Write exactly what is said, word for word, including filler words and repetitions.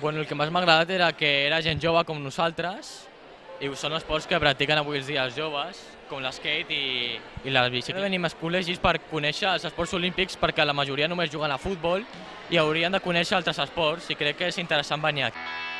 Bueno, el que més m'ha agradat era que era gent jove com nosaltres i són esports que practiquen avui els dies joves, com l'skate i, i la bicicleta. Venim als col·legis per conèixer els esports olímpics perquè la majoria només juguen a futbol i haurien de conèixer altres esports i crec que és interessant venir aquí.